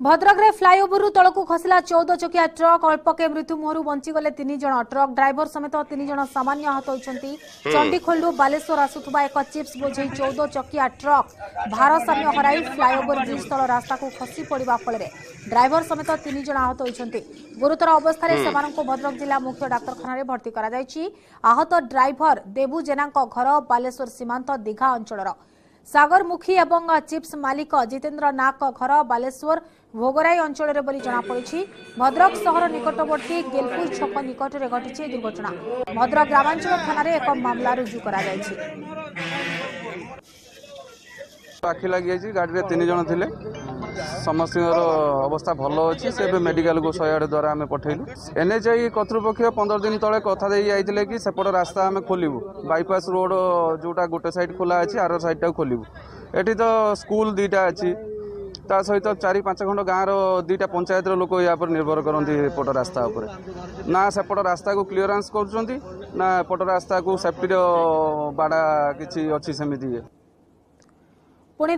ଭଦ୍ରକରେ ଫ୍ଲାଇଓଭରରୁ ତଳକୁ ଖସିଲା 14 ଚକିଆ ଟ୍ରକ୍। ଅଳ୍ପକେ ମୃତ୍ୟୁ ମୁହଁରୁ ବଞ୍ଚିଗଲେ 3 ଜଣ। ଟ୍ରକ୍ ଡ୍ରାଇଭର ସମେତ 3 ଜଣ ସାମାନ୍ୟ ଆହତ ହୋଇଛନ୍ତି। ଚଣ୍ଡିଖୋଲରୁ ବାଲେଶ୍ୱର ଆସୁଥିବା ଏକ ଚିପ୍ସ ବୋଝେଇ 14 ଚକିଆ ଟ୍ରକ୍ ଭାରସାମ୍ୟ ହରାଇ ଫ୍ଲାଇଓଭର ବ୍ରିଜ୍ ତଳ ରାସ୍ତାକୁ ଖସି ପଡ଼ିବା ଫଳରେ ଡ୍ରାଇଭର ସମେତ 3 ଜଣ ଆହତ ହୋଇଛନ୍ତି। ଗୁରୁତର ଅବସ୍ଥାରେ ସେମାନଙ୍କୁ ଭଦ୍ରକ ଜିଲ୍ଲା ମୁଖ୍ୟ ଡାକ୍ତରଖାନାରେ ଭର୍ତ୍ତି କରାଯାଇଛି। ଆହତ ଡ୍ରାଇଭର ଦେବୁ ଜେନାଙ୍କ ଘର ବାଲେଶ୍ୱର ସୀମାନ୍ତ ଦୀଘା ଅଞ୍ଚଳର। ସାଗର ମୁଖୀ ଏବଂ ଚିପ୍ସ ମାଲିକ ଜିତେନ୍ଦ୍ର ନାଗଙ୍କ ଘର ବାଲେଶ୍ୱର ଭୋଗରାଇ ଅଞ୍ଚଳରେ ବୋଲି ଜଣାପଡ଼ିଛି। ଭଦ୍ରକ ସହର ନିକଟବର୍ତ୍ତୀ ଗେଲପୁର ଛକ ନିକଟରେ ଘଟିଛି ଏହି ଦୁର୍ଘଟଣା। ଭଦ୍ରକ ଗ୍ରାମାଞ୍ଚଳ ଥାନାରେ ଏକ ମାମଲା ରୁଜୁ କରାଯାଇଛି। ଆଖି ଲାଗିଯାଇଛି। ଗାଡ଼ିରେ 3 ଜଣ ଥିଲେ, ସମସ୍ତଙ୍କର ଅବସ୍ଥା ଭଲ ଅଛି। ସେ ଏବେ ମେଡ଼ିକାଲକୁ 108 ଦ୍ୱାରା ଆମେ ପଠେଇଲୁ। ଏନ୍ଏଚ୍ଆଇ କର୍ତ୍ତୃପକ୍ଷ 15 ଦିନ ତଳେ କଥା ଦେଇ ଯାଇଥିଲେ କି ସେପଟ ରାସ୍ତା ଆମେ ଖୋଲିବୁ, ବାଇପାସ୍ ରୋଡ଼ ଯେଉଁଟା ଗୋଟେ ସାଇଡ଼୍ ଖୋଲା ଅଛି, ଆର ସାଇଡ଼୍ଟାକୁ ଖୋଲିବୁ। ଏଠି ତ ସ୍କୁଲ 2ଟା ଅଛି, ତା ସହିତ 4 5 ଖଣ୍ଡ ଗାଁର 2ଟା ପଞ୍ଚାୟତର ଲୋକ ୟା ଉପରେ ନିର୍ଭର କରନ୍ତି ଏପଟ ରାସ୍ତା ଉପରେ। ନା ସେପଟ ରାସ୍ତାକୁ କ୍ଲିୟରାନ୍ସ କରୁଛନ୍ତି, ନା ଏପଟ ରାସ୍ତାକୁ ସେଫ୍ଟିର ବାଡ଼ା କିଛି ଅଛି ସେମିତି ଇଏ।